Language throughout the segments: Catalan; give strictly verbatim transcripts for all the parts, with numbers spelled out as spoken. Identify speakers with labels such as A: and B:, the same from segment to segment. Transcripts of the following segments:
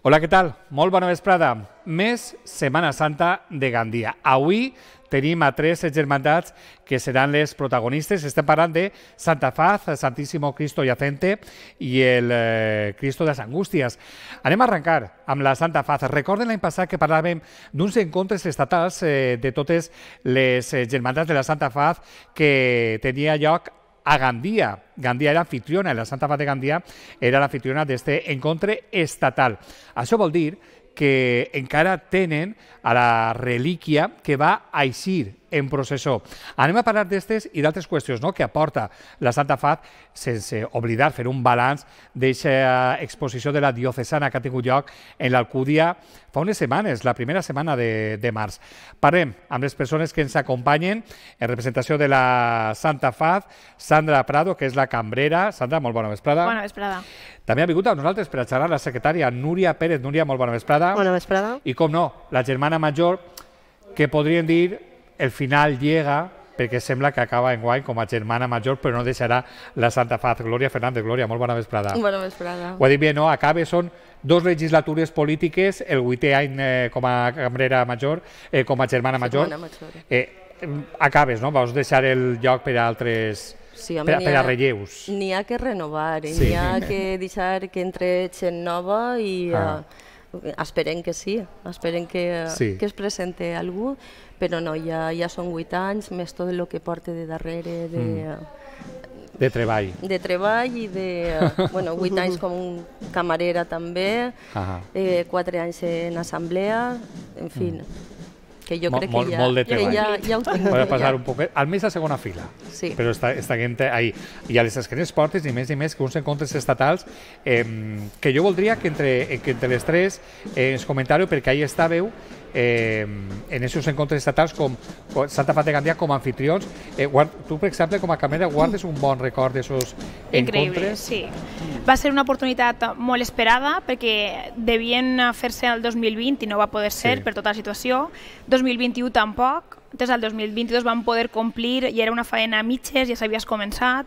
A: Hola, què tal? Molt bona vesprada. Més Setmana Santa de Gandia. Avui tenim a tres germandats que seran les protagonistes. Estem parlant de Santa Faz, Santísimo Cristo Yacente i el eh, Cristo de les Angústies. Anem a arrencar amb la Santa Faz. Recorden l'any passat que parlàvem d'uns encontres estatals eh, de totes les eh, germandats de la Santa Faz que tenia lloc a Gandia. Gandia era anfitriona, la Santa Faz de Gandia era l'anfitriona d'este encontre estatal. Això vol dir que encara tenen a la relíquia que va eixir en processó. Anem a parlar d'estes i d'altres qüestions no? que aporta la Santa Faz, sense oblidar fer un balanç d'aquesta exposició de la diocesana que ha tingut lloc en l'Alcúdia fa unes setmanes, la primera setmana de, de març. Parlem amb les persones que ens acompanyen en representació de la Santa Faz, Sandra Prado, que és la cambrera. Sandra, molt bona vesprada.
B: Bona vesprada.
A: També ha vingut amb nosaltres per a xerrar la secretària Núria Pérez. Núria, molt bona vesprada.
C: Bona vesprada.
A: I com no, la germana major, que podríem dir el final llega, perquè sembla que acaba enguany com a germana major, però no deixarà la Santa Faz. Glòria Fernández. Glòria, molt bona vesprada.
B: Bona vesprada.
A: Ho ha dit bé, no? Acaba, són dos legislatures polítiques, el vuitè any eh, com a cambrera major, eh, com a germana major.
B: major.
A: Eh, acabes, no? Vaus deixar el lloc per a altres...
B: Sí, home,
A: per, per a relleus.
B: N'hi ha que renovar,
A: Sí.
B: n'hi ha que deixar que entre gent nova i
A: Ah.
B: eh, esperem que sí, esperem que,
A: Sí.
B: que es presente algú, però no, ja, ja són vuit anys, més tot el que porta de darrere de,
A: De treball.
B: de treball i de, eh, bueno, vuit anys com camarera també,
A: Ah.
B: eh, quatre anys en assemblea, en fi, que jo
A: Mol-
B: crec
A: molt-
B: que ja,
A: molt de
B: que
A: treball.
B: ja, ja ho tinc.
A: Voy a
B: ja.
A: pasar un poquet, almenys a segona fila,
B: Sí.
A: però està, està gent ahí. I a les esquenes portes, i més i més, que uns encontres estatals, eh, que jo voldria que entre, que entre les tres eh, ens comentàreu, perquè ahí estàveu, eh, en aquests encontres estatals com com Santa Faz de Gandia com a anfitrions. Eh, guard, tu, per exemple, com a cambrera, guardes un bon record d'aquests
D: Increïble,
A: encontres?
D: sí. Va ser una oportunitat molt esperada perquè devien fer-se el dos mil vint i no va poder ser
A: Sí.
D: per tota la situació. dos mil vint-i-u tampoc. Entonces, el dos mil vint-i-dos vam poder complir i era una feina a mitges, ja s'havies començat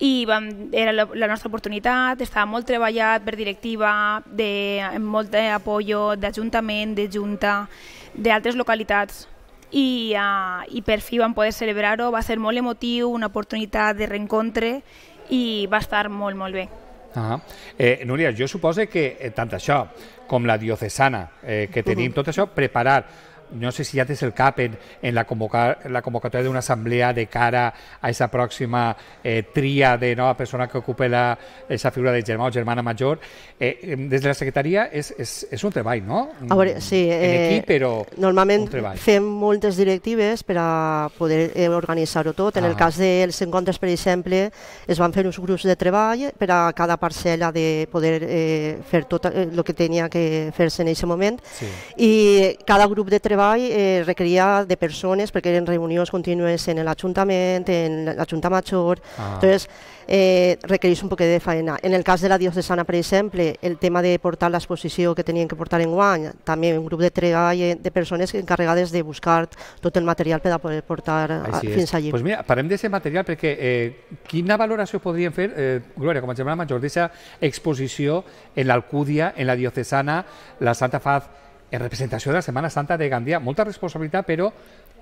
D: i vam, era la, la nostra oportunitat, estava molt treballat per directiva, de, amb molt d'apoyo d'Ajuntament, de Junta, d'altres localitats. I, uh, i per fi vam poder celebrar-ho, va ser molt emotiu, una oportunitat de reencontre i va estar molt, molt bé.
A: Ah, eh, Núria, jo suposo que eh, tant això com la diocesana eh, que tenim, tot això, preparar, no sé si ja tens el cap en, en la, convocar, la convocatòria d'una assemblea de cara a aquesta pròxima eh, tria de nova persona que ocupa la, esa figura de germà o germana major. Eh, des de la secretaria és, és, és un treball, no?
C: A veure, sí.
A: En
C: Eh,
A: equip, però
C: normalment
A: un treball.
C: fem moltes directives per a poder eh, organitzar-ho tot. En
A: Ah.
C: el cas dels encontres, per exemple, es van fer uns grups de treball per a cada parcel·la de poder eh, fer tot el que tenia que fer-se en aquest moment.
A: Sí.
C: I cada grup de treball eh, requeria de persones perquè eren reunions contínues en l'Ajuntament, en la Junta Major.
A: Ah.
C: Entonces, eh, requereix un poquet de feina. En el cas de la diocesana, per exemple, el tema de portar l'exposició que tenien que portar en guany, també un grup de treball eh, de persones encarregades de buscar tot el material per a poder portar a,
A: Així
C: fins
A: és.
C: allí.
A: Pues mira, parlem d'aquest material perquè eh, quina valoració podríem fer, eh, Glòria, com a germana major, d'aquesta exposició en l'Alcúdia, en la diocesana, la Santa Faz, en representació de la Setmana Santa de Gandia? Molta responsabilitat, però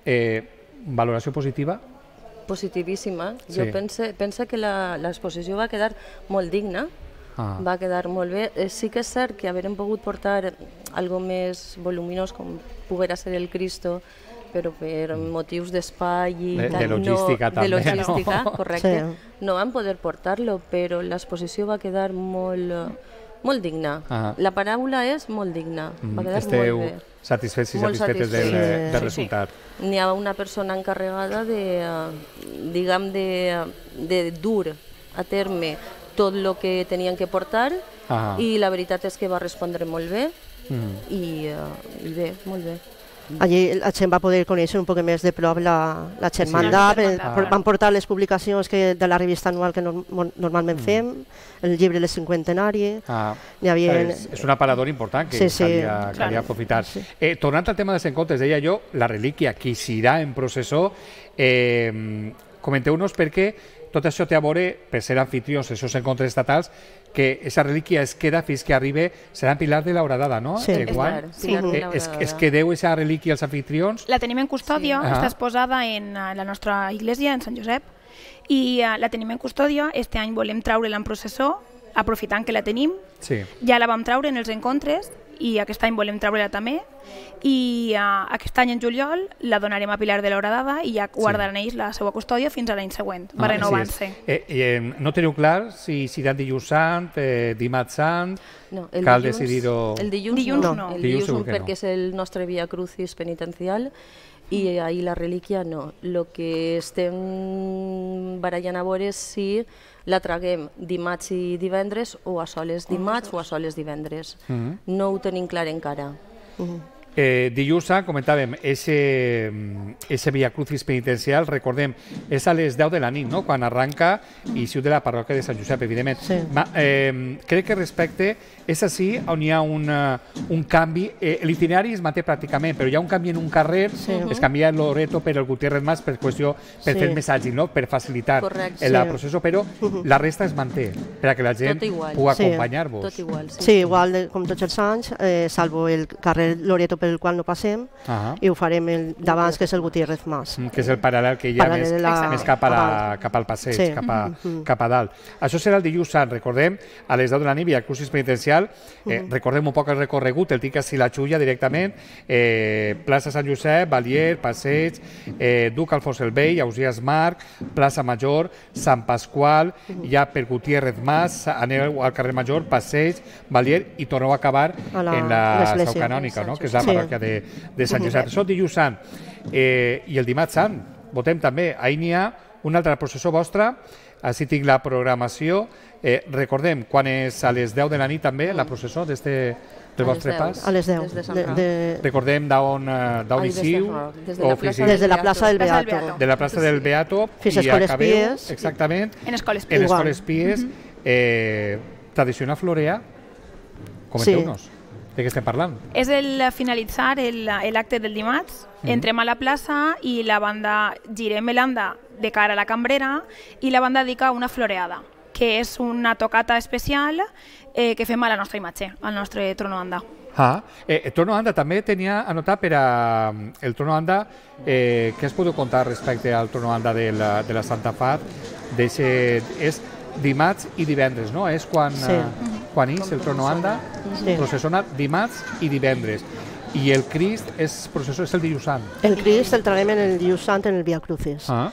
A: eh, valoració positiva?
B: Positivíssima.
A: Sí.
B: Jo pense, pense que l'exposició va quedar molt digna,
A: Ah.
B: va quedar molt bé. Eh, sí que és cert que haverem pogut portar algo més voluminós com poguera ser el Cristo, però per motius d'espai i
A: De- de
B: tal,
A: logística
B: no,
A: també,
B: de logística,
A: no?
B: correcte,
C: Sí.
B: no van poder portar-lo, però l'exposició va quedar molt, molt digna.
A: Ah.
B: La paraula és molt digna, va quedar
A: Esteu
B: molt bé.
A: satisfets i
B: Molt
A: satisfetes del,
B: satisfets.
A: del
D: Sí.
A: resultat.
B: N'hi ha una persona encarregada de, eh, diguem, de, de dur a terme tot el que tenien que portar
A: Ah.
B: i la veritat és que va respondre molt bé
A: Mm.
B: i, uh, i bé, molt bé.
C: Allí la gent va poder conèixer un poc més de prop la, la germandat,
D: Sí.
C: sí.
D: Ah.
C: Van portar les publicacions que, de la revista anual que norm, normalment fem, el llibre del cinquantenari,
A: Ah,
C: n'hi havia...
A: és, és un aparador important que
C: Sí, sí.
A: calia, calia
D: Claro.
A: aprofitar. Eh, tornant al tema dels encontres, deia jo, la relíquia que s'irà en processó, eh, comenteu-nos perquè tot això té a veure, per ser anfitrions d'aquests encontres estatals, que aquesta relíquia es queda fins que arribi, serà en Pilar de la Horadada, no?
C: Sí.
A: Eh,
B: És
A: Guany?
B: clar, Pilar de la
A: Eh, es,
B: Horadada.
A: es quedeu aquesta relíquia als anfitrions?
D: La tenim en custòdia,
A: Sí.
D: està
A: Ah.
D: exposada en eh, la nostra església, en Sant Josep, i uh, la tenim en custòdia. Este any volem treure-la en processó, aprofitant que la tenim.
A: Sí.
D: Ja la vam treure en els encontres i aquest any volem treure-la també. I uh, aquest any, en juliol, la donarem a Pilar de la Horadada i ja guardaran ells la seva custòdia fins a l'any següent. Va
A: Ah,
D: renovant-se.
A: sí. eh, eh, no teniu clar si serà dilluns sant, eh, dimarts sant...
B: No,
A: Cal decidir-ho-
B: El dilluns,
D: Dilluns
B: no,
D: no.
B: el
A: Dilluns
B: dilluns,
A: segur
B: no,
A: que no.
B: perquè és el nostre Via Crucis penitencial i ahir la relíquia no. El que estem barallant a veure és si la traguem dimarts i divendres o a soles dimarts o a soles divendres.
A: Mhm.
B: No ho tenim clar encara.
A: Eh, dilluns sant, comentàvem, ese, ese Via Crucis penitencial, recordem, és a les deu de la nit, no?, quan arranca i siu de la parròquia de Sant Josep, evidentment.
C: Sí.
A: Ma, eh, crec que respecte, és així on hi ha un, uh, un canvi, eh, l'itinerari es manté pràcticament, però hi ha un canvi en un carrer,
C: Sí.
A: es canvia el Loreto per el Gutiérrez Mas per qüestió, per
C: Sí.
A: fer més àgil, no?, per facilitar
B: Correcte.
A: el la
C: Sí.
A: processó, però la resta es manté, per a que la gent
B: Tot igual.
A: pugui
C: Sí.
A: acompanyar-vos.
B: Tot igual, sí.
C: Sí, igual de, com tots els anys, eh, salvo el carrer Loreto pel qual no passem,
A: Ah,
C: i ho farem el d'abans, que és el Gutiérrez Mas.
A: que és el paral·lel que hi ha
C: Paral·lel
A: més,
C: a la-
A: més cap, a la,
C: a-
A: cap al passeig,
C: Sí.
A: cap, a,
C: Mhm.
A: cap a dalt. Això serà el dilluns sant, recordem, a les deu de la nit, Via Crucis penitencial, eh, recordem un poc el recorregut, el tic a Silachulla directament, eh, plaça Sant Josep, Valier, Passeig, eh, Duc Alfons el Vell, Ausiàs Marc, plaça Major, Sant Pasqual, ja per Gutiérrez Mas, aneu al carrer Major, Passeig, Valier, i torneu a acabar
C: A la-
A: en la
C: l'església.
A: seu canònica, no?, que és la
C: Sí.
A: parròquia de, de Sant Josep. Això dilluns sant. Eh, I el dimarts sant, votem també. Ahir n'hi ha una altra processó vostra, així tinc la programació. Eh, recordem, quan és a les deu de la nit també, la processó d'este del
B: A les
A: vostre
B: deu.
A: pas.
C: A les deu.
B: Des de Sant
C: De,
B: Roc.
C: de,
A: Recordem d'on eh, d'on
B: Ai,
A: hi
B: des de
A: siu,
B: Roc, des de
A: o
B: la
A: fins i
B: plaça
A: tot
C: des de la plaça del
D: Plaça del
C: Beato.
D: Beato.
A: de la plaça del Beato
C: Fins a
A: i
C: Escoles
A: acabeu,
C: Pies.
A: exactament,
D: En Escoles
A: en
D: Pies.
C: Igual.
A: Escoles Pies, eh, tradició florea. Comenteu-nos de què estem parlant.
D: És el finalitzar el- l'acte del dimarts, entrem a la plaça i la banda girem l'anda de cara a la cambrera i la banda dedica una floreada, que és una tocata especial eh, que fem a la nostra imatge, al nostre trono anda.
A: Ah, eh, el trono anda també tenia anotat per a el trono anda, eh, què es podeu contar respecte al trono anda de la, de la Santa Fat? D'eixe- és dimarts i divendres, no? És quan,
C: Sí.
A: eh, quan és el trono anda,
C: Sí.
A: processona dimarts i divendres. I el Crist és processó és el dilluns sant.
C: el Crist el traiem en el dilluns sant en el Via Crucis.
A: Ah,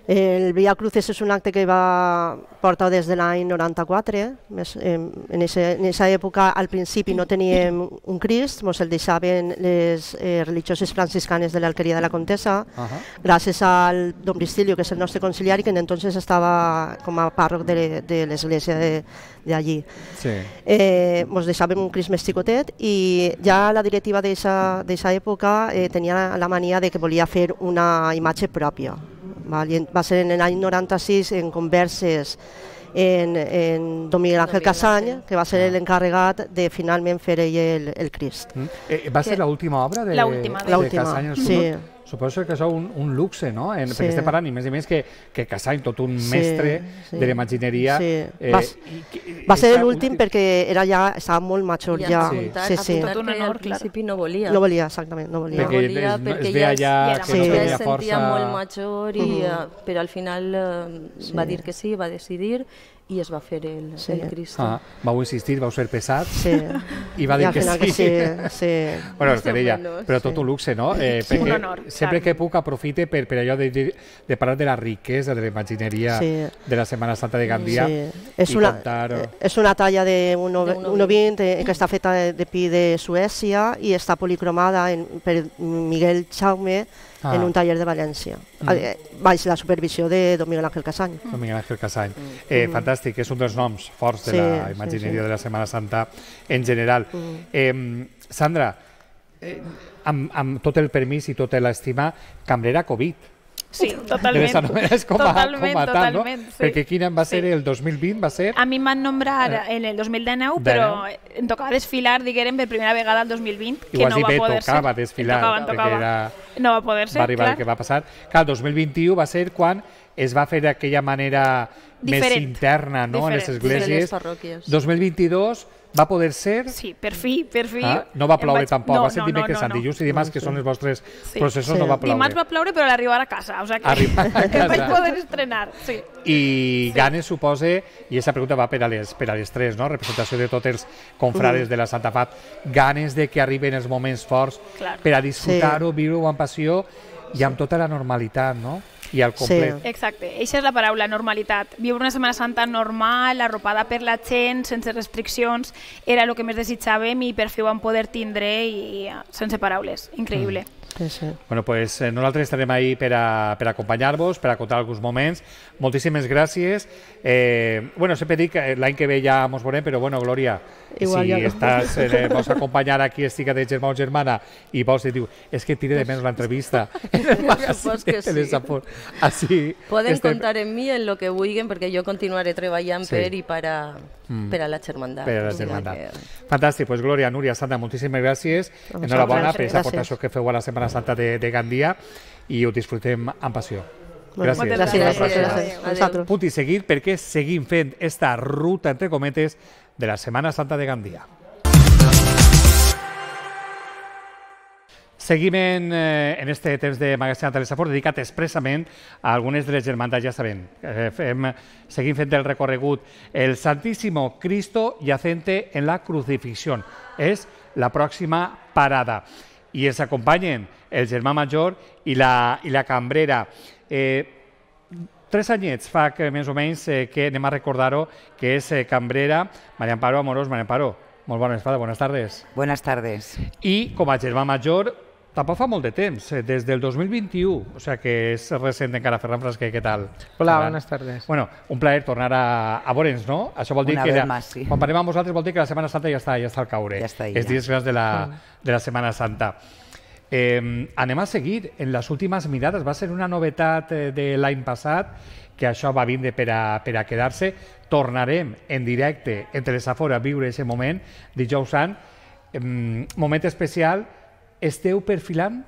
C: El Via Crucis és un acte que va portar des de l'any noranta-quatre. Més, eh, en aquesta època, al principi, no teníem un Crist, ens el deixaven les eh, religioses franciscanes de l'Alqueria de la Contessa,
A: ah,
C: gràcies al don Priscilio, que és el nostre conciliari, que entonces estava com a pàrroc de, de l'església d'allí.
A: sí.
C: Eh, ens deixàvem un Crist més xicotet i ja la directiva d'aquesta època eh, tenia la mania de que volia fer una imatge pròpia. Val? I va ser en l'any noranta-sis, en converses en, en don Miguel Ángel
B: Don Miguel
C: Casany,
B: Ángel.
C: que va ser l'encarregat de finalment fer ell el, el Crist.
A: Mm. Eh, va ser
B: Que-
A: l'última obra de,
D: L'última,
A: de
C: L'última,
A: Casany el
C: sí.
A: Sud? Suposo que és un, un luxe, no? En,
C: Sí.
A: Perquè estem parlant, i més i més, que, que Casany, tot un
C: Sí,
A: mestre
C: sí.
A: de l'imagineria...
C: Sí.
A: Eh,
C: Va-
A: i que-
C: Va ser
A: esta
C: l'últim
A: últim-
C: perquè era ja, estava molt major
B: I
C: ja.
B: a apuntar,
C: Sí,
B: a
C: sí.
B: apuntar
D: Tot un
B: que
D: honor,
B: al principi no volia.
C: No volia, exactament, no volia.
A: Perquè
B: volia,
A: es, es,
B: perquè
A: es veia
B: ja
A: ja
D: es-
A: que no
C: Sí.
B: ja
A: tenia
B: es sentia
A: força...
B: molt major, i,
C: Mhm.
B: uh, però al final uh, va dir que sí, va decidir i es va fer el,
C: Sí.
B: el Crist.
A: Ah, vau insistir, vau ser pesat
C: Sí.
A: i va dir
C: I al
A: que
C: final sí.
A: sí.
C: Que sí, sí.
A: Bueno,
B: Més o
A: per ella,
B: menos,
A: però
B: sí.
A: tot un luxe, no? Eh,
D: Sí,
A: perquè
D: un honor.
A: se sempre que puc aprofite per, per allò de, de, de parlar de la riquesa de la imagineria sí. de la Setmana Santa de Gandia sí.
C: és,
A: i
C: una,
A: contar...
C: és una talla de uno coma vint eh, que està feta de, de pi de Suècia i està policromada en, per Miguel Jaume ah. en un taller de València, mm. baix la supervisió de don Miguel Ángel Casany.
A: Don Miguel Ángel Casany. Mm. Eh, mm. Fantàstic, és un dels noms forts de sí, la imagineria sí, sí. de la Setmana Santa en general. Mm. Eh, Sandra, eh, amb, amb tot el permís i tota l'estima, cambrera Covid.
D: Sí, totalment.
A: Com a,
D: totalment,
A: com a tal,
D: totalment,
A: no?
D: sí.
A: Perquè quin any va ser
D: sí.
A: el dos mil vint? Va ser...
D: A mi em van nombrar en el dos mil dinou, però em tocava desfilar, diguem, per primera vegada el dos mil vint, que no va
A: bé,
D: poder ser.
A: tocava desfilar,
D: tocava, tocava.
A: era...
D: no va poder ser,
A: va arribar
D: clar.
A: el que va passar. Clar, el dos mil vint-i-u va ser quan es va fer d'aquella manera
D: diferent.
A: Més interna, no?,
D: diferent.
A: en les esglésies.
B: Sí, les parròquies.
A: dos mil vint-i-dos va poder ser...
D: Sí, per fi, per fi.
A: Ah, no va ploure
D: vaig...
A: tampoc,
D: no,
A: va ser
D: no,
A: dimecres,
D: no, no,
A: no. Dilluns i dimarts, que són els vostres
D: sí.
A: processos,
C: sí.
A: no va ploure.
D: Dimarts va ploure, però a l'arribar a casa, o sigui que,
A: Arribar a
D: que
A: casa.
D: vaig poder estrenar, sí.
A: I sí. Ganes supose, i aquesta pregunta va per a les, per a les tres, no?, representació de tots els confrades mm. de la Santa Fat, ganes de que arriben els moments forts
D: Clar.
A: per a disfrutar-ho,
C: sí.
A: viure-ho amb passió i amb tota la normalitat, no?, i al complet.
D: Sí. Exacte, aquesta és la paraula, normalitat. Viure una Setmana Santa normal, arropada per la gent, sense restriccions, era el que més desitjàvem i per fi ho vam poder tindre i sense paraules. Increïble.
A: Mm.
C: Sí, sí.
A: Bueno, pues eh, nosaltres estarem ahí per a, per a acompanyar-vos, per a contar alguns moments. Moltíssimes gràcies. Eh, bueno, sempre dic que l'any que ve ja mos veurem, però bueno, Glòria,
C: Igual,
A: si
C: ja
A: estàs, eh, vols acompanyar aquí, estiga de germà o germana, i vols dir, és que tire de menys l'entrevista.
B: Supos que sí.
A: Així,
B: Poden
A: estem...
B: contar en mi en lo que vulguin, perquè jo continuaré treballant
A: sí.
B: per i per a,
A: mm.
B: per a la germandat.
A: Per a la germandat. Que... Fantàstic, pues Glòria, Núria, Sandra, moltíssimes gràcies.
C: Doncs
A: Enhorabona per
C: gràcies.
A: aquesta aportació que feu a la Setmana Santa de, de Gandia i ho disfrutem amb passió.
C: Gràcies.
A: Gràcies.
C: Gràcies.
A: gràcies.
C: gràcies. gràcies.
A: Punt i seguit perquè seguim fent esta ruta, entre cometes, de la Setmana Santa de Gandia. Seguim en, eh, en este temps de Magatzem de Telesafort dedicat expressament a algunes de les germandats, ja sabem. Eh, fem, seguim fent el recorregut. El Santísimo Cristo yacente en la crucifixión. És la pròxima parada. I ens acompanyen el germà major i la, i la cambrera. Eh, tres anyets fa que més o menys eh, que anem a recordar-ho, que és eh, cambrera María Amparo Amorós. María Amparo, molt bona vesprada, buenas tardes.
E: Buenas tardes.
A: I com a germà major, tampoc fa molt de temps, eh, des del dos mil vint-i-u, o sea que és recent encara. Ferran Frasquer, què tal?
F: Hola, buenas tardes.
A: Bueno, un plaer tornar a, a veure'ns, no? Això vol dir
E: Una
A: que
E: vez
A: la,
E: más, sí.
A: quan parlem amb vosaltres vol dir que la Setmana Santa ja està, ja està al caure.
E: Ja està ahí,
A: Els
E: ja.
A: dies grans de la, de la Setmana Santa. Eh, anem a seguir en les últimes mirades. Va ser una novetat eh, de l'any passat, que això va vindre per a, per a quedar-se. Tornarem en directe entre les afores a viure aquest moment, dijous sant. Eh, moment especial. Esteu perfilant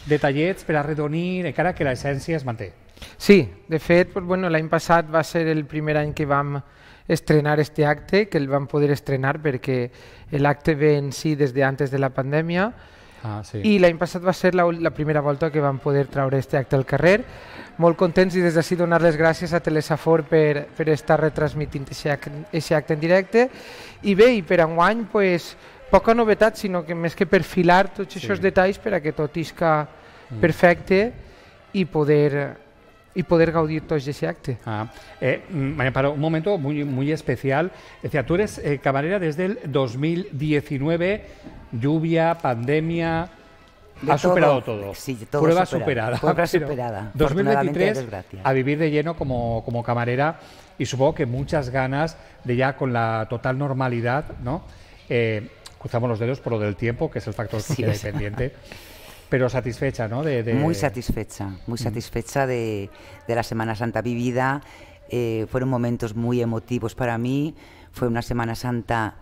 A: detallets per arredonir, encara que l'essència es manté.
F: Sí, de fet, pues, bueno, l'any passat va ser el primer any que vam estrenar este acte, que el vam poder estrenar perquè l'acte ve en si des de antes de la pandèmia.
A: Ah, sí.
F: I l'any passat va ser la, la primera volta que vam poder treure este acte al carrer. Molt contents i des d'ací donar les gràcies a Telesafor per, per estar retransmitint aquest acte en directe. I bé, i per enguany, pues, poca novetat, sinó que més que perfilar tots aquests sí. detalls per a que tot isca perfecte i poder, y poder gaudir todo ese acte.
A: Ah, eh, María Amparo, un momento muy, muy especial. Decía, tú eres eh, camarera desde el dos mil diecinueve, lluvia, pandemia... Ha superado todo.
E: Sí, todo
A: Prueba
E: superado.
A: superada.
E: Prueba superada.
A: dos mil veintitrés, a vivir de lleno como, como camarera, y supongo que muchas ganas de ya con la total normalidad, ¿no? Eh, cruzamos los dedos por lo del tiempo, que es el factor que sí, queda pendiente. Pero satisfecha, ¿no? De, de...
E: Muy satisfecha, muy satisfecha de, de la Semana Santa vivida. Eh, fueron momentos muy emotivos para mí. Fue una Semana Santa...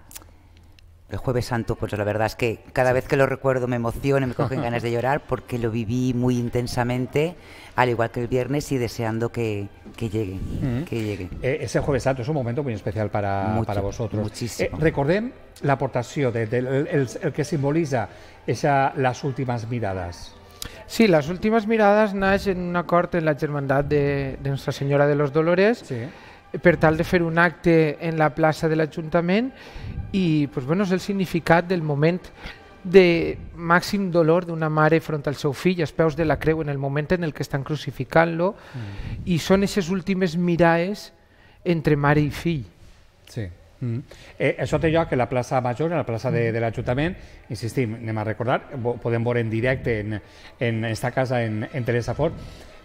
E: El Jueves Santo, pues la verdad es que cada vez que lo recuerdo me emociono y me cogen ganas de llorar porque lo viví muy intensamente, al igual que el viernes, y deseando que, que llegue. Mm-hmm. que llegue.
A: Eh, ese Jueves Santo es un momento muy especial para, Mucho, para vosotros.
E: Muchísimo.
A: Eh, recordem l'aportació de, de, el, el, el que simboliza esa, las últimas miradas.
F: Sí, las últimas miradas naix en un acord en la Germandat de, de Nuestra Senyora de los Dolores, sí. per tal de fer un acte en la plaça de l'Ajuntament i pues, bueno, és el significat del moment de màxim dolor d'una mare front al seu fill, als peus de la creu, en el moment en el que estan crucificant-lo, mm. i són aquestes últimes mirades entre mare i fill.
A: Sí. Mm. Eh, això té lloc a la plaça Major, a la plaça de, de l'Ajuntament. Insistim, anem a recordar, podem veure en directe en, en esta casa en, en Teresa Fort,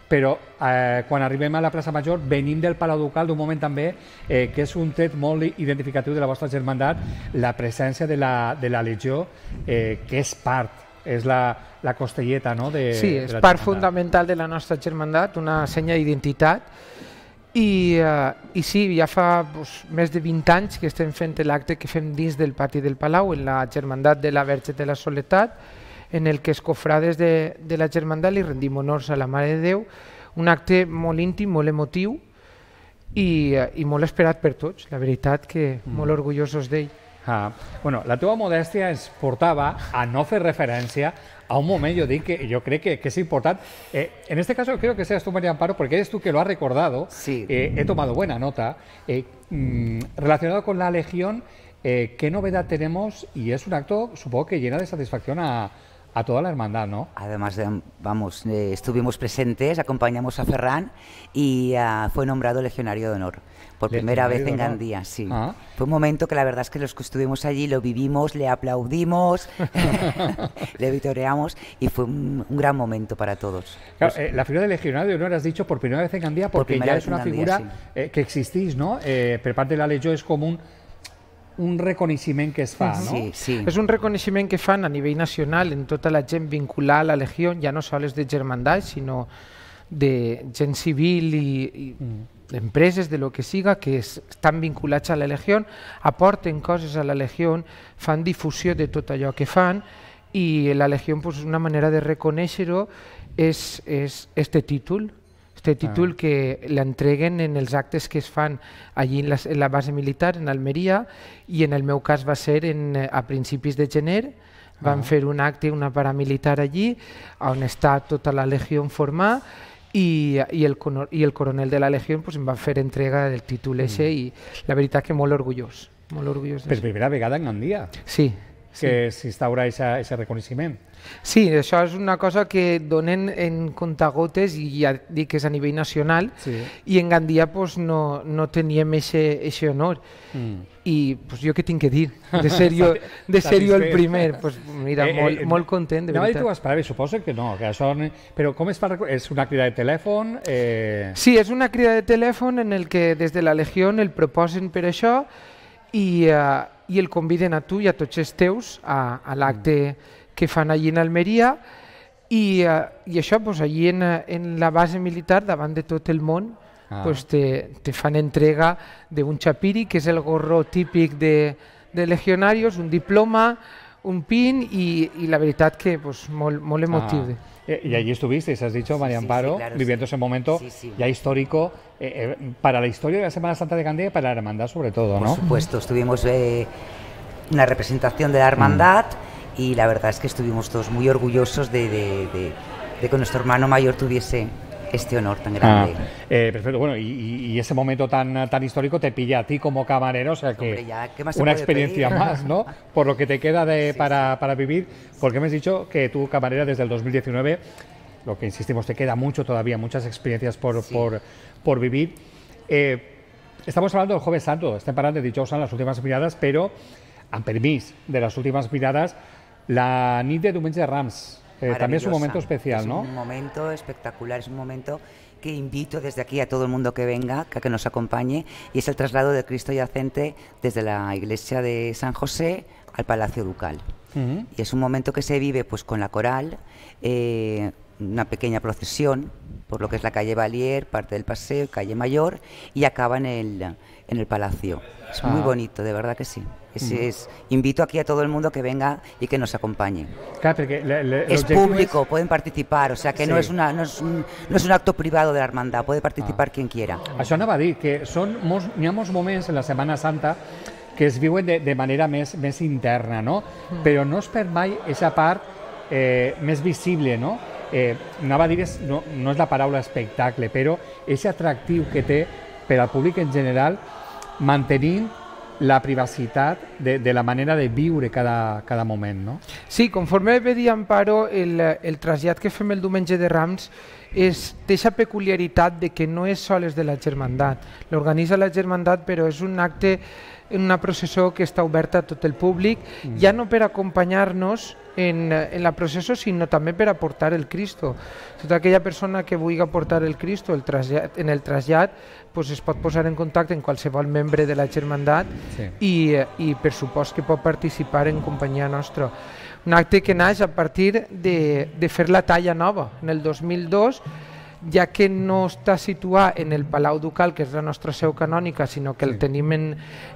A: però eh, quan arribem a la plaça Major venim del Palau Ducal d'un moment també eh, que és un tret molt identificatiu de la vostra germandat, la presència de la, de la Legió, eh, que és part, és la, la costelleta, no? De,
F: sí, és
A: de
F: part fundamental de la nostra germandat, una senya d'identitat, i, uh, i sí, ja fa pues, més de vint anys que estem fent l'acte que fem dins del pati del Palau, en la germandat de la Verge de la Soledat, en el que els cofrades de, de la germandat li rendim honors a la Mare de Déu, un acte molt íntim, molt emotiu i, i molt esperat per tots, la veritat que mm. molt orgullosos d'ell.
A: Ah, bueno, la teva modèstia ens portava a no fer referència a un moment, yo digo que yo creo que, que es importante. Eh, en este caso creo que seas tú, María Amparo, porque eres tú que lo has recordado.
E: Sí.
A: Eh, he tomado buena nota. Eh, mmm, relacionado con la Legión, eh, ¿qué novedad tenemos? Y es un acto, supongo que llena de satisfacción a, a toda la hermandad, ¿no?
E: Además, de, vamos, eh, estuvimos presentes, acompañamos a Ferran y uh, fue nombrado Legionario de Honor. Por primera vez en Gandía, sí. Ah. Fue un momento que la verdad es que los que estuvimos allí lo vivimos, le aplaudimos, le vitoreamos y fue un, un gran momento para todos.
A: Claro, pues, eh, la figura de Legionario de Honor has dicho por primera vez en Gandía porque ya es una Gandía, figura sí. eh, que existís, ¿no? Eh, per part de la Legió és com un, un reconeixement que es fa, no?
E: Sí, sí.
F: És un reconeixement que fan a nivell nacional en tota la gent vinculada a la Legió, ja no sols de germandat, sinó de gent civil i, i mm. empreses, de lo que siga, que es, estan vinculats a la Legió, aporten coses a la Legió, fan difusió de tot allò que fan i la Legió, pues, una manera de reconèixer-ho és, és este títol, este títol ah. que l'entreguen en els actes que es fan allí en la, en la base militar, en Almeria, i en el meu cas va ser en, a principis de gener, van ah. fer un acte, una paramilitar allí, on està tota la Legió formada, I, i, el, i el coronel de la Legió pues, em va fer entrega del títol ese mm. i la veritat que molt orgullós. Molt orgullós
A: per primera vegada en Gandia.
F: Sí.
A: Que s'instaura aquest reconeixement.
F: Sí, això és una cosa que donen en comptagotes i ja dic que és a nivell nacional sí. i en Gandia pues, no, no teníem aquest honor. Mm. I pues, jo què tinc que dir? De ser jo, de ser jo el primer. Pues, mira, eh, molt, eh, molt content, de
A: no,
F: veritat.
A: Tu esperaves, suposo que no. Que això, però com es fa? És una crida de telèfon? Eh...
F: Sí, és una crida de telèfon en el que des de la Legió el proposen per això i, uh, i el conviden a tu i a tots els teus a, a l'acte mm. que fan allí en Almeria i, uh, i això pues, allí en, en la base militar davant de tot el món ah. pues, te, te fan entrega d'un chapiri que és el gorro típic de, de legionarios, un diploma, un pin i, i la veritat que pues, molt, molt emotiu.
A: Ah. Y allí estuviste, has dicho, María Amparo, sí, sí, claro, viviendo sí. ese momento sí, sí. ya histórico eh, eh, para la historia de la Semana Santa de Gandía y para la hermandad sobre todo, ¿no?
E: Por supuesto, estuvimos eh, una representación de la hermandad mm. y la verdad es que estuvimos todos muy orgullosos de, de, de, de que nuestro hermano mayor tuviese este honor tan grande.
A: Ah, eh, perfecto, bueno, y, y ese momento tan, tan histórico te pilla a ti como camarero, o sea que
E: Hombre, ya,
A: una experiencia
E: pedir?
A: más, ¿no? Por lo que te queda de, sí, para,
E: sí.
A: para vivir, porque me has dicho que tú camarera desde el dos mil diecinueve, lo que insistimos, te queda mucho todavía, muchas experiencias por, sí. por, por vivir. Eh, estamos hablando del Jueves Santo, estem parlant de dijous en las últimas mirades, però, amb permís de las últimas mirades, la nit de Diumenge de Rams. Eh, también es un momento especial,
E: es
A: ¿no?
E: Es un momento espectacular, es un momento que invito desde aquí a todo el mundo que venga, que, que nos acompañe, y es el traslado del Cristo yacente desde la iglesia de San José al Palacio Ducal. Uh-huh. Y es un momento que se vive pues con la coral, eh, una pequeña procesión por lo que es la calle Valier, parte del paseo, calle Mayor, y acaba en el, en el Palacio. Es ah. muy bonito, de verdad que sí. Es, mm. es, invito aquí a todo el mundo que venga y que nos acompañe.
A: Claro, porque le, le,
E: es público, es... pueden participar, o sea que sí. no, es una, no, es un, no es un acto privado de la hermandad, puede participar ah. quien quiera.
A: Això anava a dir, que són molts, hi ha molts moments en la Setmana Santa que es viuen de, de manera més, més interna, no? Mm. Però no es perd mai aquesta part eh, més visible, no? Eh, anava a dir, és, no, no és la paraula espectacle, però és atractiu que té per al públic en general mantenint la privacitat de, de la manera de viure cada, cada moment, no?
F: Sí, conforme ve dir Amparo, el, el trasllat que fem el diumenge de Rams és d'aquesta peculiaritat de que no és sols de la germandat. L'organitza la germandat, però és un acte, una processó que està oberta a tot el públic, mm. ja no per acompanyar-nos en, en la processó, sinó també per aportar el Cristo. Tota aquella persona que vulgui aportar el Cristo el trasllat, en el trasllat pues es pot posar en contacte amb qualsevol membre de la germandat sí. i, i per supost que pot participar en companyia nostra. Un acte que naix a partir de, de fer la talla nova. En el dos mil dos, ja que no està situat en el Palau Ducal, que és la nostra seu canònica, sinó que sí. el tenim en,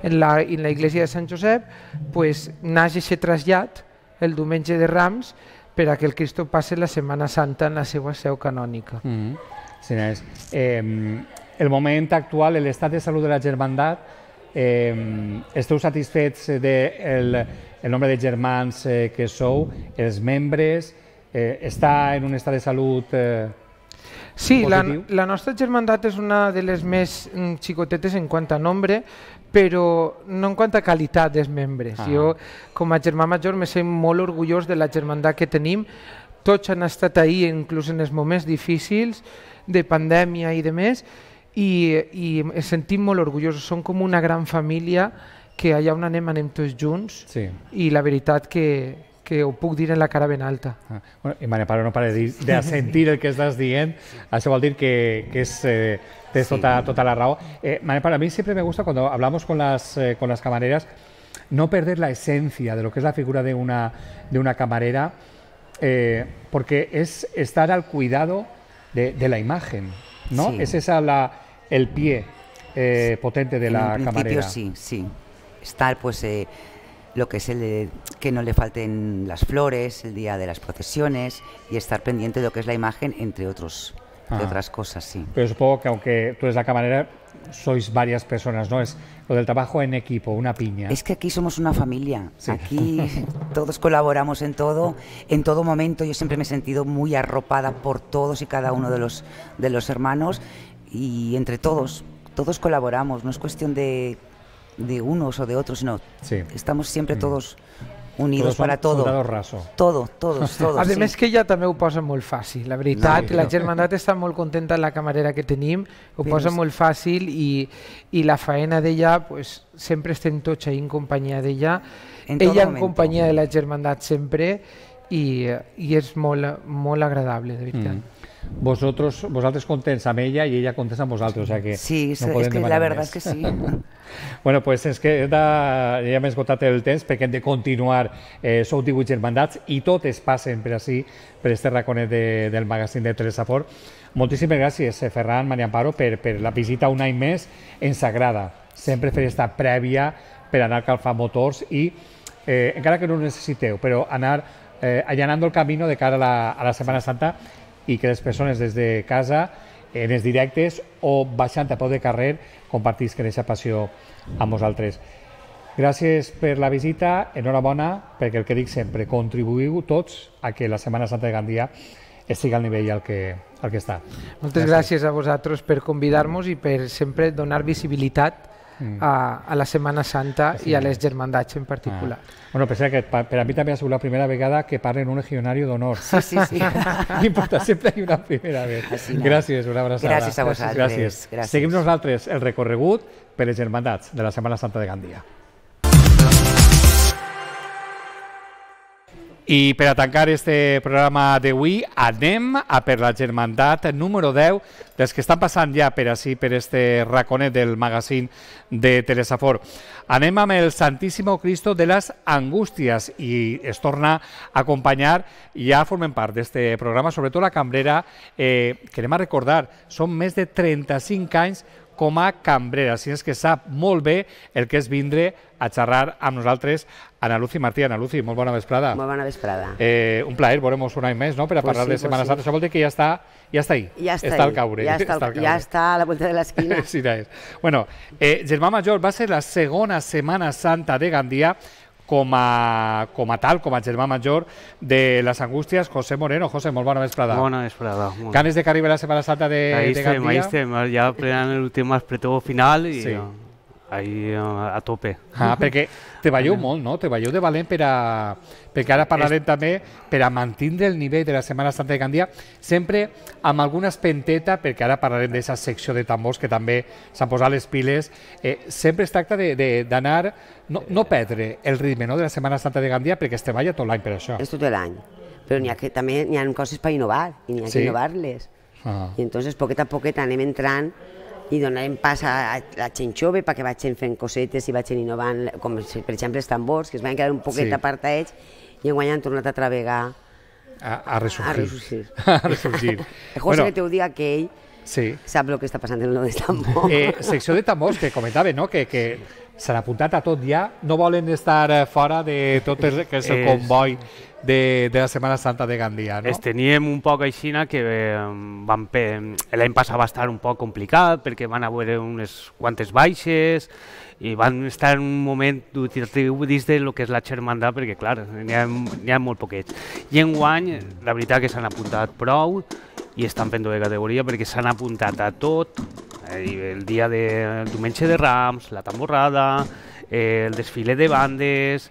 F: en, la, en la iglesia de Sant Josep, pues, naix aquest trasllat el diumenge de Rams per a que el Cristo passe la Setmana Santa en la seva seu canònica.
A: Mm-hmm. Sí, és. Eh, el moment actual, l'estat de salut de la germandat, eh, esteu satisfets del el nombre de germans eh, que sou, els membres, eh, està en un estat de salut eh,
F: sí, la, la nostra germandat és una de les més mm, xicotetes en quant a nombre, però no en quant a qualitat dels membres. Ah. Jo, com a germà major, me sent molt orgullós de la germandat que tenim. Tots han estat ahí, inclús en els moments difícils de pandèmia i de més, i, i ens sentim molt orgullosos. Som com una gran família que allà on anem anem tots junts sí. i la veritat que, que ho puc dir en la cara ben alta.
A: Ah, bueno, i Maria Paro no para de, de sentir el que estàs dient, això vol dir que, que es, eh, tens sí. tota, tota la raó. Eh, Maria Paro, a mí siempre me gusta cuando hablamos con las, eh, con las camareras no perder la esencia de lo que es la figura de una, de una camarera, eh, porque es estar al cuidado de, de la imagen, ¿no? Sí. Es esa la, el pie eh, potente de en la camarera.
E: Sí, sí. Estar, pues, eh, lo que es el de, que no le falten las flores el día de las procesiones y estar pendiente de lo que es la imagen, entre otros, entre otras cosas, sí.
A: Pero supongo que aunque tú eres la camarera, sois varias personas, ¿no? Es lo del trabajo en equipo, una piña.
E: Es que aquí somos una familia, sí. Aquí todos colaboramos en todo, en todo momento. Yo siempre me he sentido muy arropada por todos y cada uno de los, de los hermanos, y entre todos, todos colaboramos, no es cuestión de... de unos o de otros, no. Sí. Estamos siempre todos unidos todos para todo.
A: Raso.
E: Todo, todos, todos.
F: A més sí. que ella també ho posa molt fàcil. La veritat, sí, la germandat està molt contenta en la camarera que tenim, ho Però posa molt fàcil i, i la faena d'ella, pues, sempre estem tots ahí en companyia d'ella. Ella en companyia de la germandat sempre i, i és molt, molt agradable, de veritat. Mm.
A: Vosotros, vosaltres contents amb ella i ella contents amb vosaltres, o sea que
E: sí,
A: no
E: és que la veritat
A: és
E: que sí.
A: Bueno, pues és que de, ja m'he esgotat el temps perquè hem de continuar, eh, sou divuit germandats i totes passen per així, per este raconet de, del magazín de Telesafor. Moltíssimes gràcies, Ferran, Maria Amparo, per, per la visita un any més. Ens agrada sempre fer esta prèvia per anar calfant motors i, eh, encara que no ho necessiteu, però anar eh, allanant el camí de cara a la, a la Setmana Santa, i que les persones des de casa, en els directes o baixant a peu de carrer, compartisquen aquesta passió amb vosaltres. Gràcies per la visita, enhorabona, perquè el que dic sempre, contribuïu tots a que la Setmana Santa de Gandia estigui al nivell al que, al que està.
F: Moltes gràcies. gràcies a vosaltres per convidar-nos i per sempre donar visibilitat A, a la Setmana Santa sí. i a les germandats en particular.
A: Ah. Bueno, pensé que per, per a mi també ha sigut la primera vegada que parlen un legionario d'honor.
E: Sí, sí, sí.
A: No importa, sempre hi ha una primera vez. No. Gràcies, una abraçada.
E: Gràcies a vosaltres.
A: Gràcies. Gràcies. Seguim nosaltres el recorregut per les germandats de la Setmana Santa de Gandia. I per a tancar este programa d'avui anem a per la germandat número deu dels que estan passant ja per així, per este raconet del magazín de Telesafor. Anem amb el Santíssimo Cristo de les Angústies i es torna a acompanyar, ja formen part d'este programa, sobretot la cambrera, eh, que anem a recordar, són més de trenta-cinc anys com a cambrera, així és que sap molt bé el que és vindre a xerrar amb nosaltres Ana Lucy Martí. Ana Lucy, molt bona vesprada.
G: Molt bona vesprada.
A: Eh, un plaer, veuremos un any més, no?, per a pues parlar sí, de Setmana pues Santa. Sí. Això vol dir que ja està, ja està ahí.
G: Ja està,
A: està al caure.
G: Ja està,
A: està, al
G: ja està a la vuelta de l'esquina.
A: Sí, ja és. Bueno, eh, Germà Major va ser la segona Setmana Santa de Gandia com a, com a tal, com a germà major de les Angústies. José Moreno. José, molt bona vesprada.
H: Bona vesprada.
A: Ganes de que arribi la Setmana Santa de,
H: ahí
A: de
H: estem,
A: Gandia?
H: Ahí estem, ja plenant l'últim espretó final i...
A: Sí.
H: ahí a tope.
A: Ah, perquè treballeu molt, no? Treballeu de valent per a... Perquè ara parlarem també per a mantindre el nivell de la Setmana Santa de Gandia, sempre amb alguna espenteta, perquè ara parlarem d'aquesta secció de tambors que també s'han posat les piles. Eh, sempre es tracta d'anar, no, no perdre el ritme, no?, de la Setmana Santa de Gandia, perquè es treballa tot l'any per això.
G: És tot l'any, però n'hi ha que, també n'hi ha coses per innovar, i n'hi ha
A: Sí.
G: que innovar-les.
A: Ah.
G: I entonces, poquet a poquet anem entrant i donarem pas a la gent jove perquè vagin fent cosetes i vagin innovant, com per exemple els tambors, que es van quedar un poquet
A: Sí.
G: apartats i enguany han tornat a travegar
A: A, a ressurgir.
G: a ressurgir.
A: A ressurgir.
G: El José que te ho diga que ell
A: sí.
G: sap el que està passant en lo dels tambors.
A: Eh, secció de tambors que comentava, no?, que, que s'han apuntat a tot ja, no volen estar eh, fora de tot el que és el
H: És-
A: comboi de, de la Setmana Santa de Gandia, no?
H: Es teníem un poc aixina que eh, van pe- l'any passat va estar un poc complicat perquè van haver unes quantes baixes i van estar en un moment dubitatiu dins de lo que és la germandat perquè, clar, n'hi ha, n'hi ha molt poquets. I enguany, la veritat que s'han apuntat prou i estan fent de categoria perquè s'han apuntat a tot, eh, el dia de el diumenge de Rams, la tamborrada, eh, el desfile de bandes,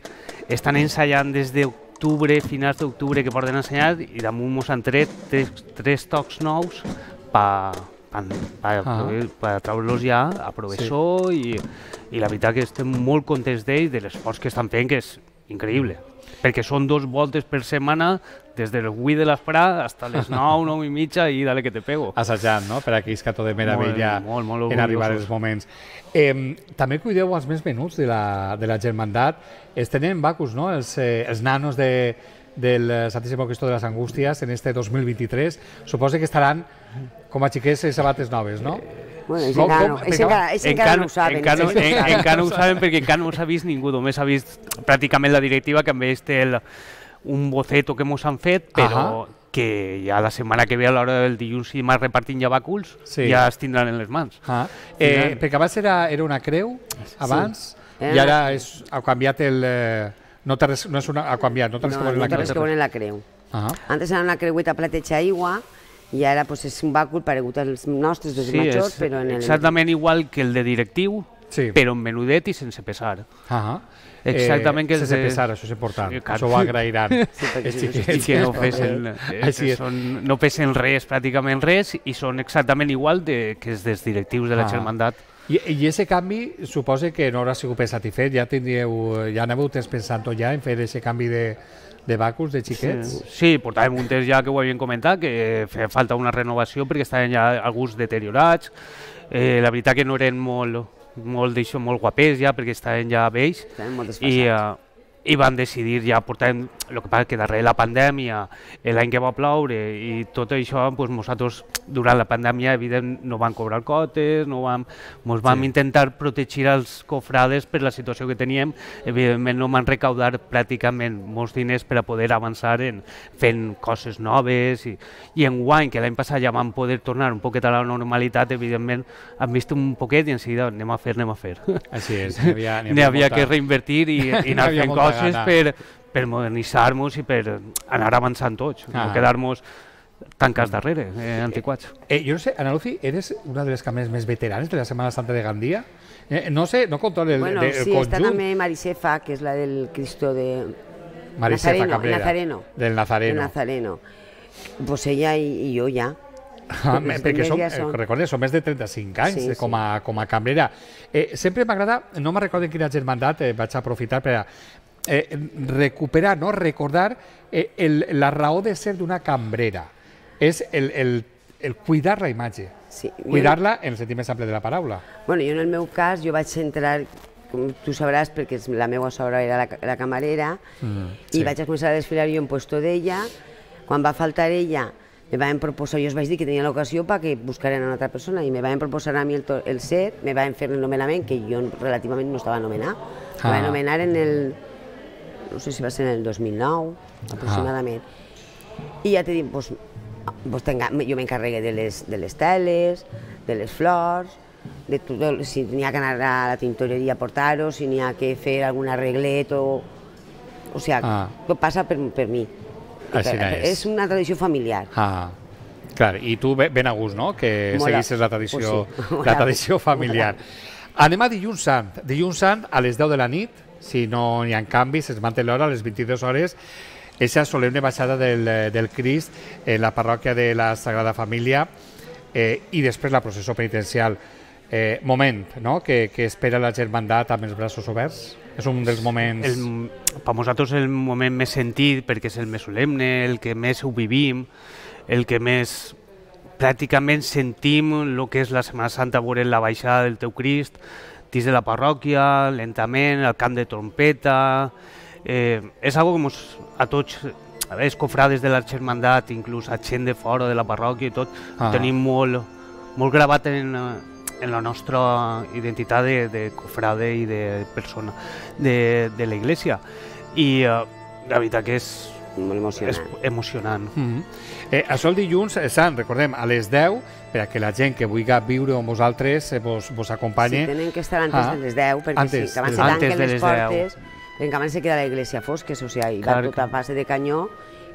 H: estan ensaiant des d'octubre, finals d'octubre que porten ensenyat i damunt mos han tret tres, tres tocs nous per pa, pa,
A: Ah.
H: pa treure-los ja a professor sí. i, i la veritat que estem molt contents d'ells, de l'esforç que estan fent, que és increïble. Perquè són dos voltes per setmana, des del vuit de l'esprà fins a les nou, nou i mitja i dale que te pego.
A: Assajant, no?, per aquí és que tot de meravella
H: Molt, molt, molt
A: en arribar
H: orgullosos.
A: els moments. Eh, també cuideu els més menuts de la, de la germandat. Es tenen bacus, no?, els, eh, els nanos de, del Santíssimo Cristo de les Angústies en este dos mil vint-i-tres. Suposo que estaran com a xiquets i sabates noves, no?
G: Bueno, ells
A: Com-
G: encara,
A: com-
G: no, ells encara, ells encara no ho saben.
H: Encara,
G: ells no ho
H: en,
G: saben.
H: encara no ho saben perquè encara no s'ha vist ningú, només s'ha vist pràcticament la directiva que també té el, un boceto que mos han fet, però
A: Ahà.
H: que ja la setmana que ve a l'hora del dilluns i dimarts repartint ja bàculs,
A: Sí.
H: ja es tindran en les mans.
A: Ah. Eh, perquè abans era, era una creu, abans,
G: Era
A: i
G: una-
A: ara és, ha canviat el... Eh, no, té res, no és una, ha canviat, no té res
G: No,
A: que veure
G: no
A: la
G: té res que
A: creu.
G: veure en la creu.
A: Ah.
G: Antes era una creueta plateja aigua i ara pues, és un bàcul paregut als nostres dos majors,
H: és
G: però en el...
H: exactament igual que el de directiu,
A: Sí.
H: però en menudet i sense pesar.
A: Ah.
H: Exactament que és
A: sense
H: de-
A: pesar, això és important,
H: Sí, clar.
A: això ho agrairan.
G: perquè
A: Els
G: si no,
A: xiquets.
H: I que no pesen, eh,
A: Així és.
H: són, no pesen res, pràcticament res, i són exactament igual de, que els dels directius de la
A: Ah.
H: germandat.
A: I, I aquest canvi suposa que no haurà sigut per satisfet, ja tindríeu, ja anàveu temps pensant ja en fer aquest canvi de, de bacus, de xiquets?
H: Sí, portàvem un temps ja que ho havien comentat, que feia falta una renovació perquè estaven ja alguns deteriorats. Eh, la veritat que no eren molt, molt, d'això, molt guapers ja perquè estaven ja vells
G: Estaven molt
H: i,
G: desfasats.
H: uh, i van decidir ja portar, el que passa que darrere la pandèmia, l'any que va ploure i tot això, doncs nosaltres durant la pandèmia evident no vam cobrar cotes, no vam, mos vam
A: Sí.
H: intentar protegir els cofrades per la situació que teníem, evidentment no van recaudar pràcticament molts diners per a poder avançar en fent coses noves i, i enguany, que l'any passat ja vam poder tornar un poquet a la normalitat, evidentment hem vist un poquet i en seguida anem a fer, anem a fer.
A: Així és, n'hi havia,
H: N'hi havia
A: molta-
H: que reinvertir i, i
A: N'hi
H: anar
A: havia
H: fent
A: molta
H: coses
A: gana.
H: per, per modernitzar-nos i per anar avançant tots,
A: Ah.
H: no quedar-nos tancats darrere, eh, antiquats.
A: Eh, jo no sé, Ana Lucy, eres una de les cambres més veteranes de la Setmana Santa de Gandia? Eh, no sé, no controlo el,
G: Bueno,
A: de, el
G: sí, està
A: conjunt.
G: també Marisefa, que és la del Cristo de
A: Marisefa
G: Nazareno,
A: Cabrera,
G: Nazareno.
A: del
G: de
A: Nazareno.
G: Nazareno. Pues ella i, i jo ja.
A: Ah, me-
G: Els
A: perquè
G: més
A: som,
G: ja
A: eh,
G: són-
A: recordeu, som més de trenta-cinc anys
G: Sí,
A: eh, com,
G: sí.
A: a, com a cambrera. Eh, sempre m'agrada, no me'n recordo en quina germandat, eh, vaig aprofitar per a eh, recuperar, no? recordar eh, el, la raó de ser d'una cambrera. És el, el, el cuidar la imatge,
G: Sí. Jo-
A: cuidar-la en el sentit més ample de la paraula.
G: Bueno, jo en el meu cas, jo vaig entrar, com tu sabràs, perquè és- la meva sogra era la, la camarera,
A: Mm,
G: i
A: sí.
G: vaig a començar a desfilar jo en puesto d'ella. Quan va faltar ella, me van proposar, jo els vaig dir que tenia l'ocasió perquè buscaren a una altra persona, i me van proposar a mi el, to- el set, me van fer el nomenament, que jo relativament no estava nomenat. Me
A: Ah.
G: van nomenar en el, no sé si va ser en el dos mil nou, aproximadament. I ja t'he dit, pues, pues tenga, jo m'encarregué de les, de les teles, de les flors, de tot, si n'hi ha que anar a la tintoreria a portar-ho, si n'hi ha que fer algun arreglet o... O sigui,
A: Ah.
G: tot passa per, per mi.
A: Així
G: Per-
A: és.
G: és una tradició familiar.
A: Ah, clar, i tu be- ben a gust, no?, que
G: Molt a-
A: seguissis la tradició,
G: Pues sí, molt
A: la
G: a
A: tradició
G: gust,
A: familiar. Anem a dilluns sant. Dilluns sant a les deu de la nit, si no hi ha canvis, es manté l'hora a les vint-i-dues hores, aquesta solemne baixada del, del Crist en la parròquia de la Sagrada Família eh, i després la processó penitencial. Eh, moment, no?, que, que espera la germandat amb els braços oberts. És un dels moments...
H: El, per nosaltres és el moment més sentit perquè és el més solemne, el que més ho vivim, el que més pràcticament sentim el que és la Setmana Santa, veure la baixada del teu Crist dins de la parròquia, lentament, el cant de trompeta... Eh, és algo que mos, a tots els cofrades de la germandat, inclús a gent de fora de la parròquia i tot, ah. tenim molt, molt gravat en, en la nostra identitat de, de cofrade i de persona de, de la Iglesia. I uh, la veritat que és
G: molt emocionant.
H: És emocionant.
A: Mm-hmm. eh, això el dilluns, eh, Sant, recordem, a les deu, per a que la gent que vulgui viure amb vosaltres eh, vos, vos acompanyi.
G: Sí, tenen que estar antes ah. de les deu, perquè
A: antes,
G: sí, que abans se tanquen les portes, perquè abans se queda la iglesia fosca, o sigui, va tota a fase de canyó,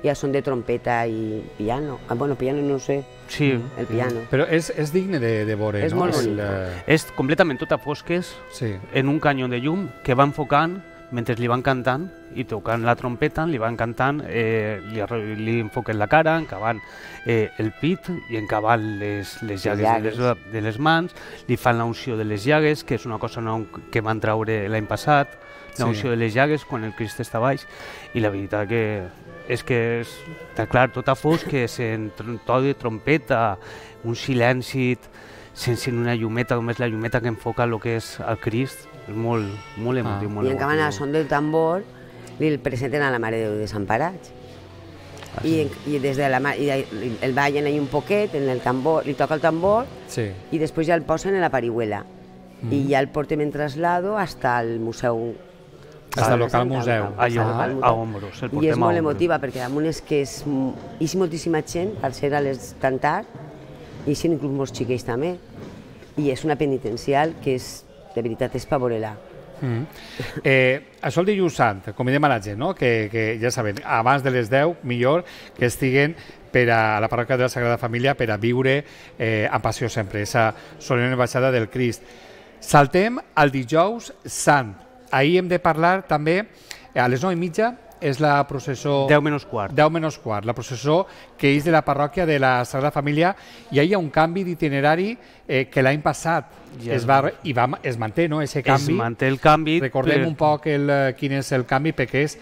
G: i a son de trompeta i piano. Ah, bueno, piano no sé,
H: sí.
G: el piano.
A: Però és, és digne de, de veure,
G: és
A: no?
G: Molt bonic.
H: El, és completament tot a fosques,
A: sí.
H: en un canyó de llum que va enfocant mentre li van cantant i tocant la trompeta, li van cantant, eh, li, li enfoquen la cara, encavant eh, el pit i encavant les, les llagues, llagues. De, les, de les mans, li fan la unció de les llagues, que és una cosa nou que van treure l'any passat, la unció sí. de les llagues quan el Crist està baix, i la veritat que és que és, està clar, tot a fosc, que sent to de trompeta, un silenci, sense una llumeta, com és la llumeta que enfoca el que és el Crist, és molt, molt emotiu. Ah.
G: Molt I en canvi, al son del tambor, li presenten a la Mare de Déu Desemparats. Ah, sí. I, i des de la i el ballen ahí un poquet, en el tambor, li toca el tambor,
A: sí.
G: i després ja el posen en la parihuela. Mm. I ja el portem en traslado hasta el museu.
A: Hasta el local museu.
H: A, a, a Ombros.
G: I és molt emotiva, perquè damunt és que és, és moltíssima gent, per ser a les tan tard, i si inclús molts xiquets també. I és una penitencial que és, de veritat, és per veure-la.
A: Mm. Eh, això el dilluns sant, convidem a la gent, no? que, que ja saben, abans de les deu, millor que estiguen per a la parròquia de la Sagrada Família per a viure eh, amb passió sempre, aquesta solemne baixada del Crist. Saltem al dijous sant. Ahir hem de parlar també, a les nou i mitja, és la processó...
H: deu menys quart.
A: deu menys quart, la processó que és de la parròquia de la Sagrada Família, i ahir hi ha un canvi d'itinerari eh, que l'any passat ja. es, va, i va, es manté, no?, ese canvi.
H: Es manté el canvi.
A: Recordem per... un poc el, quin és el canvi, perquè és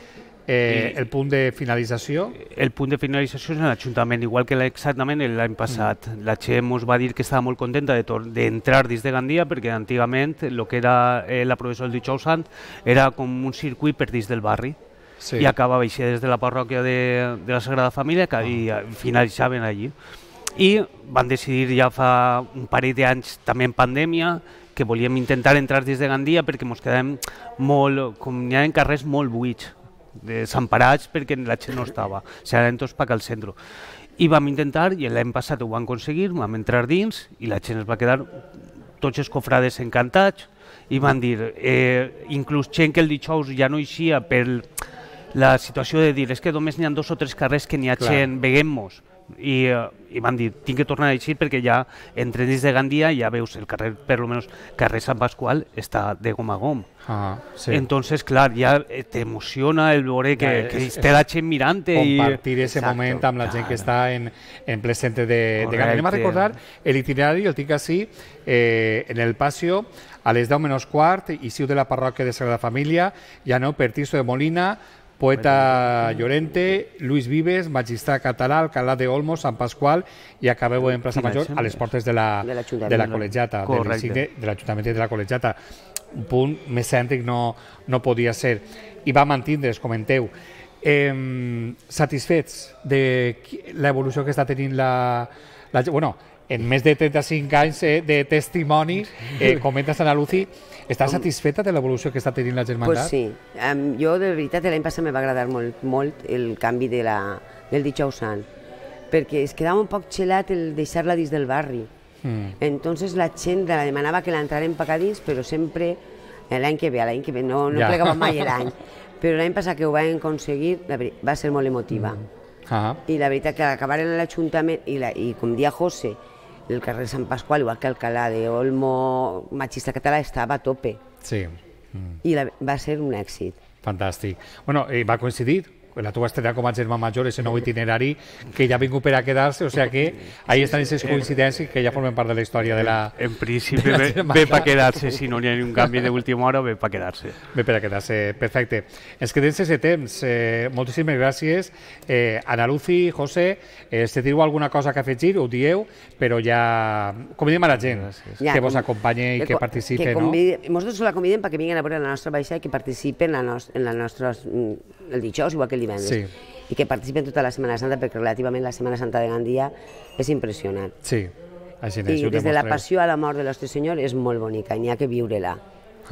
A: eh, el punt de finalització.
H: El punt de finalització és l'Ajuntament, igual que exactament l'any passat. Mm. La Che ens va dir que estava molt contenta d'entrar dins de Gandia, perquè antigament el que era eh, la processó del dijous sant era com un circuit per dins del barri. Sí. I acabava així des de la parròquia de, de la Sagrada Família que, i finalitzaven allí. I van decidir ja fa un parell d'anys, també en pandèmia, que volíem intentar entrar dins de Gandia perquè ens quedàvem molt, com hi ha en carrers molt buits, desemparats perquè la gent no estava, serien tots per al centre. I vam intentar, i l'any passat ho vam aconseguir, vam entrar dins i la gent es va quedar, tots els cofrades encantats, i van dir, eh, inclús gent que el dijous ja no eixia per la situació de dir, és que només n'hi ha dos o tres carrers que n'hi ha gent, veguem-nos. I, uh, I van dir, tinc que tornar a eixir perquè ja entre dins de Gandia ja veus el carrer, per almenys carrer Sant Pasqual, està de gom a gom.
A: Ah, sí.
H: Entonces, clar, ja t'emociona el veure que, ja, que és, té la gent mirant-te.
A: Compartir i... ese moment amb la gent que està en, en ple centre de, de Gandia. Anem a recordar l'itinerari, el tinc així, eh, en el Pasio, a les deu menys quart, eixiu de la parròquia de Sagrada Família, ja no, per Tirso de Molina, Poeta Llorente, Luis Vives, magistrat català, alcalá de Olmos, Sant Pasqual, i acabeu en plaça Major a les portes de la, de la col·legiata, de l'Ajuntament de la col·legiata. Un punt més cèntric no, no podia ser. I va mantindre's, comenteu. Eh, satisfets de l'evolució que està tenint la... la bueno, en més de trenta-cinc anys eh, de testimoni, eh, comenta Ana Lucy, estàs satisfeta de l'evolució que està tenint la germandat?
G: Pues sí, um, jo de veritat l'any passat me va agradar molt, molt el canvi de la, del dijous sant, perquè es quedava un poc xelat el deixar-la dins del barri. Mm. Entonces la gent la demanava que l'entraren per dins, però sempre l'any que ve, l'any que ve, no, no ja. plegava mai l'any. Però l'any passat que ho vam aconseguir va ser molt emotiva. Mm. Ah. I la veritat que acabaren a l'Ajuntament, i, la, i com dia José, el carrer Sant Pasqual, igual que Alcalá de Olmo, Machista Català, estava a tope.
A: Sí.
G: I la, va ser un èxit.
A: Fantàstic. Bueno, eh, va coincidir la teva estrella com a germà major, ese nou itinerari que ja ha vingut per a quedar-se, o sigui que ahí estan aquestes coincidències que ja formen part de la història de la...
H: En principi ve, ve per quedar-se, si no hi ha un canvi d'última hora, ve per quedar-se.
A: Ve per a quedar-se, perfecte. Ens quedem sense temps. Eh, moltíssimes gràcies. Eh, Ana Lucy, José, eh, si teniu alguna cosa que afegir, ho dieu, però ja convidem a la gent
G: Ja,
A: que vos
G: com-
A: acompanye i que participe,
G: que
A: no?
G: convide, Nosaltres la convidem perquè vinguin a veure la nostra baixa i que participen en, la nos, en la nostra, el dijous, igual que el divendres.
A: Sí.
G: I que participen tota la Setmana Santa, perquè relativament la Setmana Santa de Gandia és impressionant.
A: Sí, així és,
G: I
A: ho
G: des de la
A: demostreu.
G: passió a la mort de l'Ostre Senyor és molt bonica, i n'hi ha que viure-la.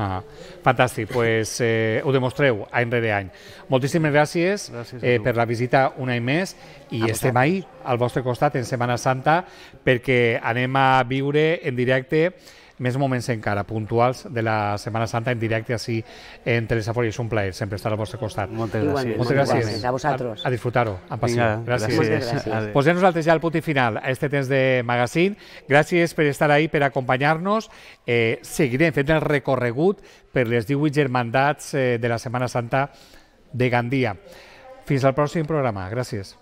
A: Ah, fantàstic, pues, eh, ho demostreu any rere any. Moltíssimes gràcies,
H: Gràcies a
A: eh,
H: tu.
A: per la visita un any més i
G: A
A: estem ahí al vostre costat en Setmana Santa perquè anem a viure en directe més moments encara, puntuals de la Setmana Santa en directe així en Telesafora i és un plaer sempre estar al vostre costat.
H: Moltes
G: Igualment.
H: gràcies.
A: Moltes gràcies.
G: Igualment, a vosaltres.
A: A, a disfrutar-ho, amb passió.
H: Vinga,
A: gràcies.
G: Moltes gràcies.
H: Adéu.
A: Posem nosaltres ja el punt i final a este temps de magazine. Gràcies per estar ahí, per acompanyar-nos. Eh, seguirem fent el recorregut per les divuit germandats eh, de la Setmana Santa de Gandia. Fins al pròxim programa. Gràcies.